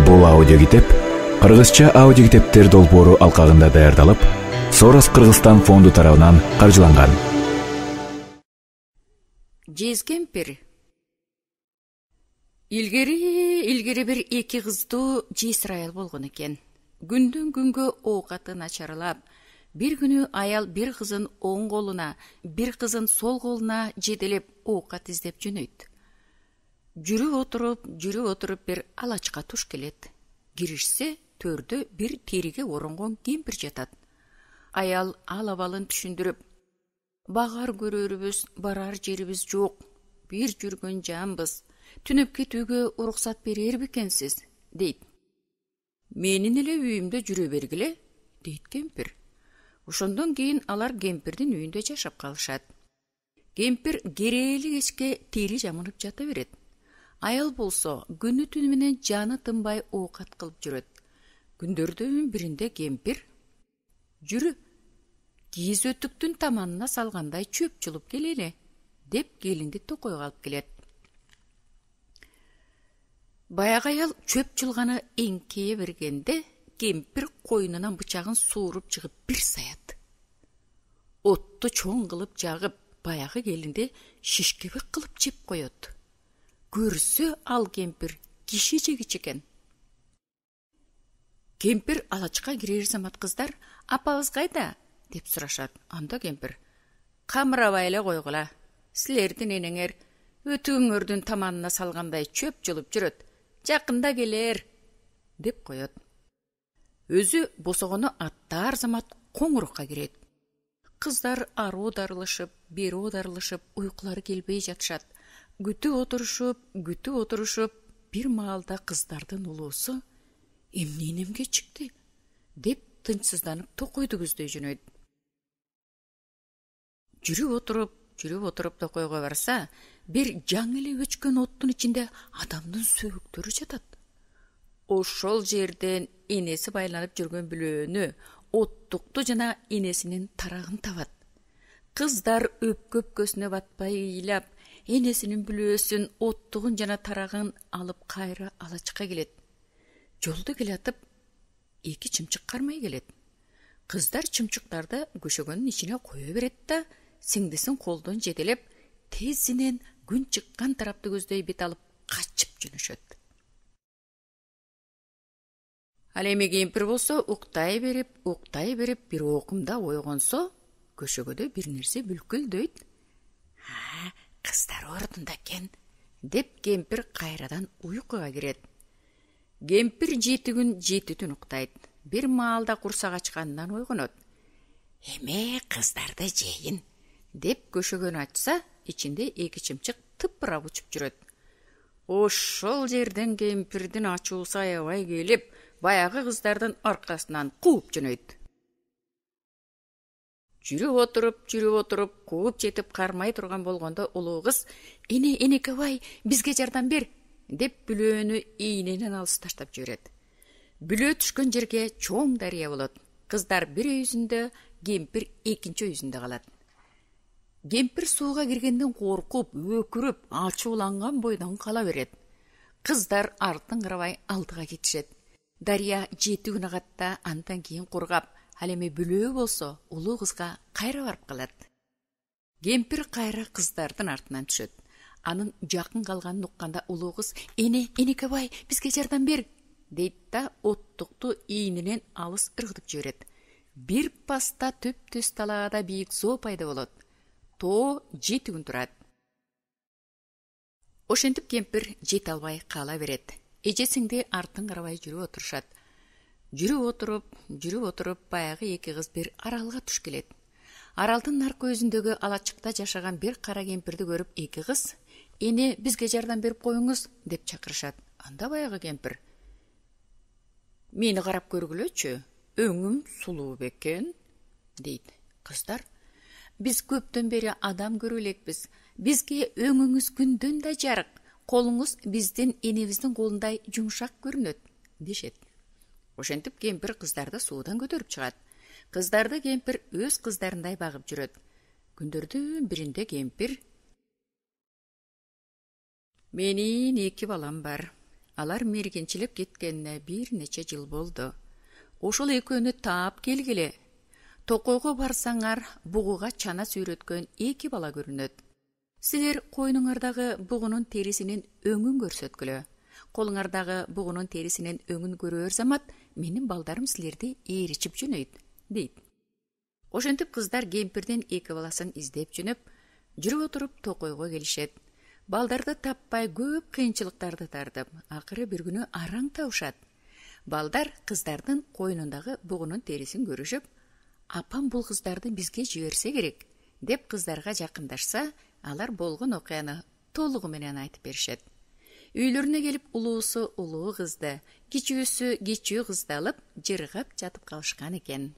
Бул аудиокитеп кыргызча аудиокитептер долбоору алкагында даярдалып, Сорос Кыргызстан фонду тарабынан каржыланган. Жез кемпир. Илгери бир эки кыздуу жесир аял болгон экен. Күндөн күнгө оокаты начарлап, бир күнү аял бир кызын оң колуна, бир кызын сол колуна жетелеп оокат издеп жөнөйт. Жүрүп отуруп бир алачка туш келет. Киришсе, төрдө бир териге оронгон кемпир жатат. Аял ал абалын түшүндүрүп: "Багар көрөрүбүз, барар жерибиз жок. Бир жүргөн жанбыз. Түнөп кетүүгө уруксат берер бекенсиз?" дейт. "Менин эле үйүмдө жүрө бергиле", дейт кемпир. Ошондон кийин алар кемпирдин үйүндө жашап калышат. Кемпир керээли кечке тери жамынып жата берет. Аял болсо күнү түнү менен жаны тынбай оокат кылып жүрөт. Күндөрдөн биринде кемпир: "Жүрү, кийиз өтүктүн таманына салгандай чөп чулуп келели", деп келинди токойго алып келет. Баягы аял чөп чулганы эңкейе бергенде, кемпир койнунан бычагын сууруп чыгып бир саят. Отту чоң кылып жагып, баягы келинди шишкебек кылып жеп коет. Көрсө ал кемпир киши жегич экен. Кемпир алачка кирер замат кыздар: "Апабыз кайда?" деп сурашат. Анда кемпир: "Камырабай эле койгула. Силердин энеңер өтүгүңөрдүн таманына салгандай чөп чулуп жүрөт. Жакында келер", деп коет. Өзү босогону аттаар замат коңурукка кирет. Кыздар ары оодарылышып, бери оодарылышып, уйкулары келбей жатышат. Күтүп отурушуп, бир маалда кыздардын улуусу: "Эмне чыкты?" деп тынчсызданып токойду көздөй жөнөйт. Жүрүп отуруп токойго барса, бир жаңы эле өчкөн оттун ичинде адамдын сөөктөрү жатат. Ошол жерден энеси байланып жүргөн бүлөөнү, оттукту жана энесинин тарагын табат. Кыздар өпкө-өпкөсүнө батпай ыйлап, энесинин бүлөөсүн, оттугун жана тарагын алып кайра алачка келет. Жолдо келатып, эки чымчык кармай келет. Кыздар чымчыктарды көшөгөнүн ичине кое берет да, сиңдисин колдон жетелеп, тезинен күн чыккан тарапты көздөй бет алып качып жөнөшөт. Ал эми кемпир болсо уктай берип бир окумда ойгонсо, көшөгөдө бир нерсе бүлкүлдөйт. "Кыздар ордунда экен", деп кемпир кайрадан уйкуга кирет. Кемпир 7 күн 7 түн уктайт. Бир маалда курсак ачканынан ойгонот. "Эме кыздарды жейин", деп көшөгөнү ачса, ичинде эки чымчык тыпырап учуп жүрөт. Ошол жерден кемпирдин ачуусу аябай келип, баягы кыздардын аркасынан кууп жөнөйт. Жүрүп отуруп, кууп жетип кармай турган болгондо улуу кыз: Энекебай, бизге жардам бер", деп бүлөөнү ийненен алыс таштап жиберет. Бүлөө түшкөн жерге чоң дарыя болот. Кыздар бир өйүзүндө, кемпир экинчи өйүзүндө калат. Кемпир сууга киргенден коркуп, өкүрүп, ачууланган бойдон кала берет. Кыздар артын карабай алдыга кетишет. Дарыя 7 күн агатта, андан кийин кургап, ал эми бүлөө болсо улуу кызга кайра барып калат. Кемпир кайра кыздардын артынан түшөт. Анын жакын калганын укканда улуу кыз: "Энекебай, бизге жардам бер", дейт да оттукту ийненен алыс ыргытып жиберет. Бир паста төп-төс талаада бийик зоо пайда болот. Тоо 7 күн турат. Ошентип кемпир жете албай кала берет. Эжесиңди артын карабай жүрүп отурушат. Жүрүп отуруп, баягы эки кыз бир аралга туш келет. Аралдын наркы өзүндөгү алачыкта жашаган бир кара кемпирди көрүп, эки кыз: "Эне, бизге жардам берип коюңуз", деп чакырышат. Анда баягы кемпир: "Мени карап көргүлөчү, өңүм сулуу бекен", дейт. Кыздар: "Биз көптөн бери адам көрүп элекпиз. Бизге өңүңүз күндөн да жарык, колуңуз биздин энебиздин колундай жумшак көрүнөт", дешет. Ошентип кемпир кыздарды суудан көтөрүп чыгат. Кыздарды кемпир өз кыздарындай багып жүрөт. Күндөрдүн биринде кемпир: "Менин 2 балам бар. Алар мергенчилеп кеткенине бир нече жыл болду. Ошол экөөнү таап келгиле. Токойго барсаңар, бугуга чана сүйрөткөн 2 бала көрүнөт. Силер койнуңардагы бугунун терисинин өңүн көрсөткүлө. Колуңардагы бугунун терисинин өңүн көрөр замат менин балдарым силерди ээричип жөнөйт, дейт. Ошентип кыздар кемпирдин 2 баласын издеп жөнөп, жүрүп отуруп токойго келишет. Балдарды таппай көп кыйынчылыктарды тартып, акыры бир күнү араң табышат. Балдар кыздардын койнундагы бугунун терисин көрүшүп, апам бул кыздарды бизге жиберсе керек, деп кыздарга жакындашса, алар болгон окуяны толугу менен айтып беришет. Үйлөрүнө келип, улуусу улуу кызды, кичүүсү кичүү кызды алып, жыргап жатып калышкан экен.